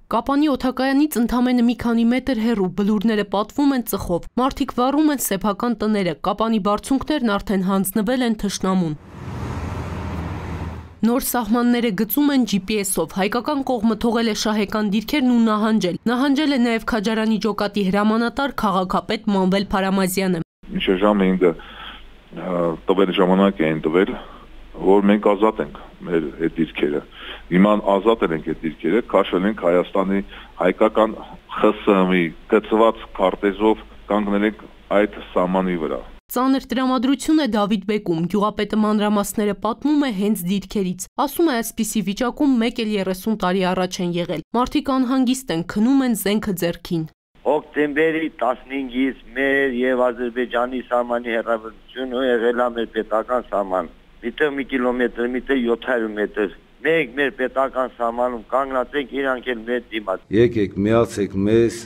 Կապանի օդակայանից ընդամենը մի քանի մետր հեռու բլուրները պատվում են ծխով, մարդիկ վառում են սեփական տները, Կապանի բարձունքներն արդեն հանձնվել են թշնամուն։ Նոր սահմանները գծում են GPS-ով, հայկական կողմը թողել է շահեկան դիրքերն ու նահանջել է նաև Քաջարանի ջոկատի հրամանատար քաղաքապետ Մանվել Փարամազյանը։ Ինչ ժամը ինձ տվել ժամանակ էին տվել, որ մենք ազատ ենք մեր այդ դիրքերը։ Հիմա ազատ ենք այդ դիրքերը, քաշել ենք Հայաստանի հայկական ԽՍՀՄ-ի գծված քարտեզով կանգնել ենք այդ սահմանի վրա։ Ծանր տրամադրություն է Դավիթ բեկում, գյուղապետը մանրամասները պատմում է հենց դիրքերից։ Ասում է այսպիսի վիճակում մեկ էլ 30 տարի առաջ են եղել։ Մարդիկ անհանգիստ են, քնում են զենքը ձեռքին։ Հոկտեմբերի 15-ից մեր եւ Ադրբեջանի սահմանի հեռավորությունը եղել է մեր պետական սահման։ Միտը 1 կիլոմետր, միտը 700 մետր։ Մենք մեր պետական սահմանում կանգնած ենք, իրանք էլ մեր դիմաց։ Եկեք միացեք մեզ,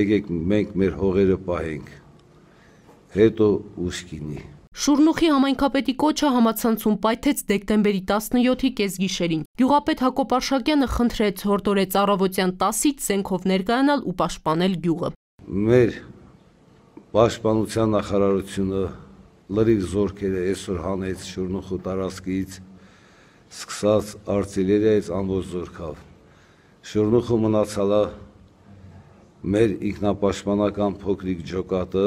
եկեք մենք մեր հողերը պահենք։ Հետո ուշքինի։ Շուրնուխի համայնքապետի կոչը համացանցում պայթեց դեկտեմբերի 17-ի կեսգիշերին։ Գյուղապետ Հակոբ Արշակյանը խնդրեց հորդորեց առավոտյան 10-ից զենքով ներկայանալ ու պաշտպանել գյուղը։ Մեր պաշտպանության նախարարությունը լրիվ զորքերը այսօր հանեց Շուրնուխու տարածքից, սկսած արտիլերիայից ամբողջ զորքով։ Շուրնուխու մնացալա մեր ինքնապաշտպանական փոքրիկ ջոկատը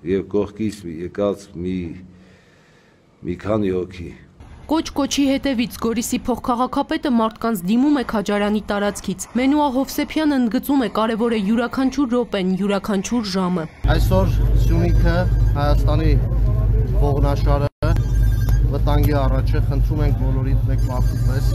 եւ կողքից եկած մի քանի հոգի։ Կոչի հետևից Գորիսի փոխքաղաքապետը մարդկանց դիմում է Քաջարանի տարածքից։ Մենուա Հովսեփյանը ընդգծում է կարևոր է յուրաքանչյուր րոպեն, յուրաքանչյուր ժամը։ Այսօր Սյունիքը Հայաստանի ողնաշարը վտանգի առաջ է, խնդրում ենք բոլորիդ մեկ մարդու պես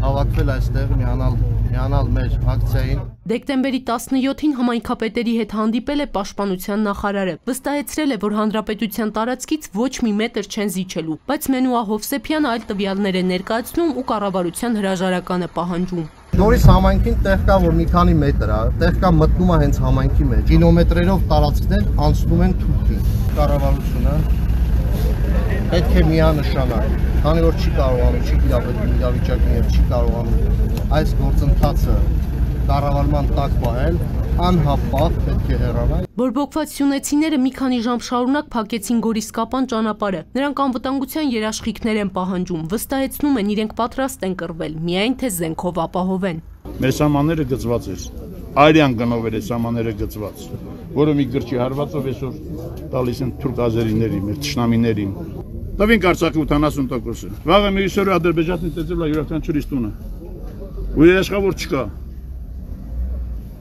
հավաքվել այստեղ, միանալ մեր ակցիային։ Դեկտեմբերի 17-ին համայնքապետերի հետ հանդիպել է պաշտպանության նախարարը։ Վստահեցրել է, որ հանրապետության տարածքից ոչ մի մետր չեն զիջելու, բայց Մենուա Հովսեփյանը այլ տվյալներ է ներկայացնում ու կառավարության հրաժարական է պահանջում։ Նորից համայնքին տեղ կա, որ մի քանի մետր է, տեղ կա մտնում է հենց համայնքի մեջ։ Կիլոմետրերով տարածքներ անցնում են թուրքի։ Կառավարությունը պետք է միանշանակ, քանի որ չի կարողանում, չի իրավիճակին եւ չի կարողանում այս գործընթացը կառավարման տակ պահել, անհապաղ պետք է հեռանալ։ Բորբոքված սյունեցիները մի քանի ժամ շարունակ փակեցին Գորիս-Կապան ճանապարհը։ Նրանք անվտանգության երաշխիքներ են պահանջում, վստահեցնում են իրենք պատրաստ են կռվել, միայն թե զենքով ապահովեն։ Մեր սահմանները գծված էր, արյան գնով էր սահմանները գծված, որը մի գրչի հարվածով այսօր տալիս են թուրք-ազերիներին, մեր թշնամիներին։ Տվինք Արցախի 80%-ը։ Վաղը մի ուսորը Ադրբեջանի տեսել է յուրաքանչյուրիս տունը։ Ու երաշխավոր չկա։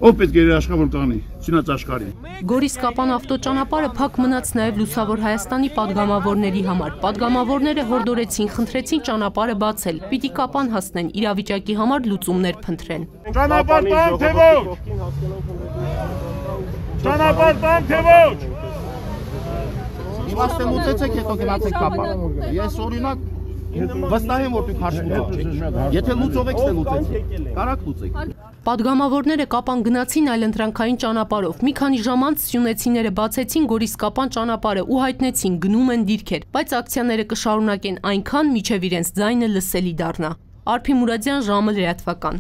Ով պետք է երաշխավոր կանի, չնայած աշխարհի։ Գորիս-Կապան ավտոճանապարհը փակ մնաց նաև Լուսավոր Հայաստանի падգամավորների համար։ Падգամավորները հորդորեցին, խնդրեցին ճանապարհը բացել, պիտի Կապան հասնեն, իրավիճակի համար լուծումներ փնտրեն։ Ճանապարհ տան թե ոչ։ Ճանապարհ տան թե ոչ։ Իմաստը լուծեցեք, հետո գնացեք Կապան։ Ես օրինակ վստահ եմ, որ դուք հաշվի կառնեք։ Եթե լուծող եք, լուծեք։ Կարակ լուծեք։ Падգամավորները Կապան գնացին այլընտրանքային ճանապարհով։ Մի քանի ժամ անց սյունեցիները բացեցին Գորիս-Կապան ճանապարհը ու հայտնեցին գնում են դիրքեր, բայց ակցիաները կշարունակեն այնքան, մինչև իրենց ձայնը լսելի դառնա։ Արփի Մուրադյան, ժամը լրատվական։